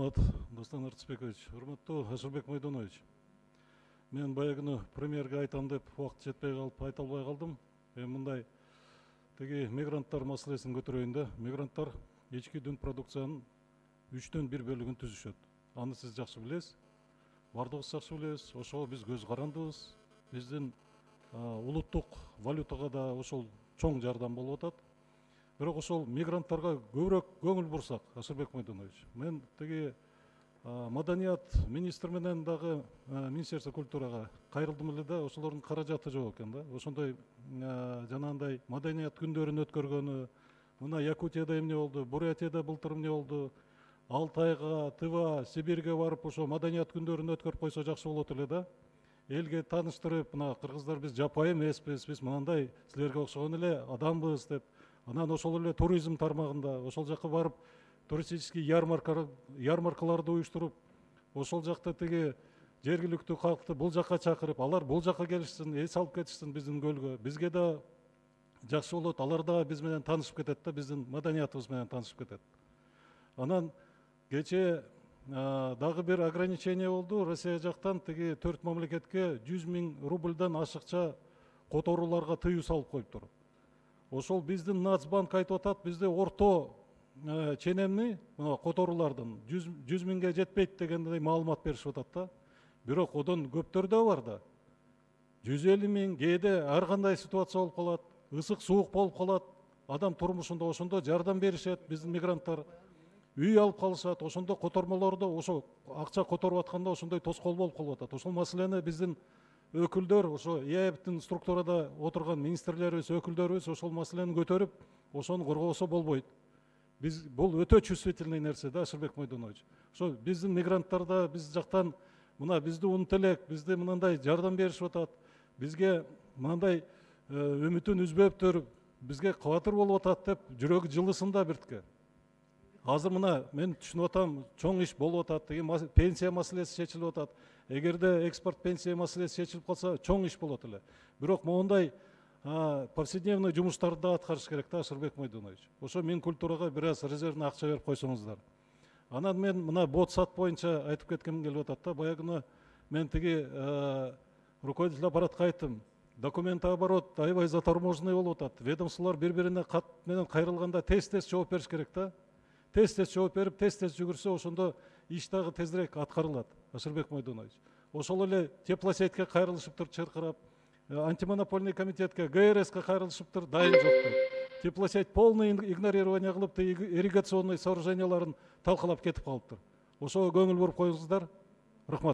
Рахмат, Достан Артысбекович. Урматтуу Ашырбек Майдонович. Мен баягыны премьерге айтам деп убакыт жетпей калып айта албай калдым. Мындай теги мигранттар маселесин көтөрөйүн да. Мигранттар ички дүн продукциянын 1/3 бөлүгүн түзүшөт. Аны сиз жакшы билесиз. Бардыгыбыз жакшы билебиз. Ошого биз көз карандыбыз. Биздин улуттук валютага да ошол чоң жардам болуп атат. Бирок ошол мигранттарга көбүрөөк көңүл бурсак, Ашырбек Майдонович, мен теги маданият министр менен дагы Министерство культурага кайрылдым эле да, ошолордун каражаты жок экен да. Ошондой жанагындай маданият күндөрүн өткөргөнү, мына Якутияда эмне болду, Бурятияда былтыр эмне болду, Алтайга, Тыва, Сибирге барып ошо маданият күндөрүн өткөрүп койсо жакшы болот эле да. Элге тааныштырып, мына кыргыздар биз жапайы эмеспиз, биз мындай силерге окшогон эле адамбыз деп. Анан ошол эле туризм тармагында ошол жака барып туристический ярмаркаларды уюштуруп, ошол жакта теги жергиликтүү калкты бул жака чакырып, алар бул жака келишсин, эс алып кетишсин биздин көлгө. Бизге да жакшы болот, алар да биз менен таанышып кетет да, биздин маданиятыбыз менен таанышып кетет. Анан кечээ дагы бир ограничение болду. Россия жактан теги 4 мамлекетке 100 000 рубльдан ашыкча которууларга тыюу салып коюптур. Ошол биздин Нацбанк айтып атат, бизде орто ченемни которуулардын 100 000ге жетпейт дегендей маалымат беришип атат да. Бирок одон көптөр да бар да. 150 000, кээде ар кандай ситуация болуп калат, ысык суук болуп калат, адам турмушунда ошондо жардам беришет биздин мигранттар. Үй алып калышат, ошондо котормолордо ошо акча которуп атканда ошондой тоскоол болуп калып атат. Ошол маселени биздин өкүлдөр, ошо ИАЭБтин структурада отурган министрлерибиз, өкүлдөрүбүз ошол маселени көтөрүп, ошону коргобосо болбойт. Биз бул өтө чувствительный нерсе да, Ашырбек Майдонович. Ошо биздин мигранттарда биз жактан мына бизди унут элек, бизди мындай жардам беришип атат, бизге мындай үмүтүн үзбөптүр, бизге кабатыр болуп атат деп жүрөгү жылысын да биртке. Азыр мына мен түшүнүп атам, чоң иш болуп атат, теги пенсия маселеси чечилип атат. Эгерде экспорт пенсия маселеси чечилип калса, чоң иш болот эле. Бирок моундай повседневный жумуштарды да аткарыш керек да, Ашырбек Майдонович. Ошо Минкультурага бир аз резервный акча берип койсоңуздар. Анан мен мына ботсат боюнча айтып кеткем келип атат да. Баягыны мен теги руководитель аппаратка айттым. Документооборот аябай заторможенный болуп атат. Ведомстволор бири-бирине кат менен кайрылганда тез жооп бериш керек да. Тез жооп берип, тез жүгүрсө, ошондо иш дагы тезирээк аткарылат, Ашырбек Майдонович. Ошол эле теплосетьке кайрылышыптыр чыркырап, антимонопольный комитетке, ГРСке кайрылышыптыр, дайын жок. Теплосеть полный игнорирование кылып, ирригационный сооруженияларын талкалап кетип калыптыр. Ошого көңүл буруп коюңуздар. Рахмат.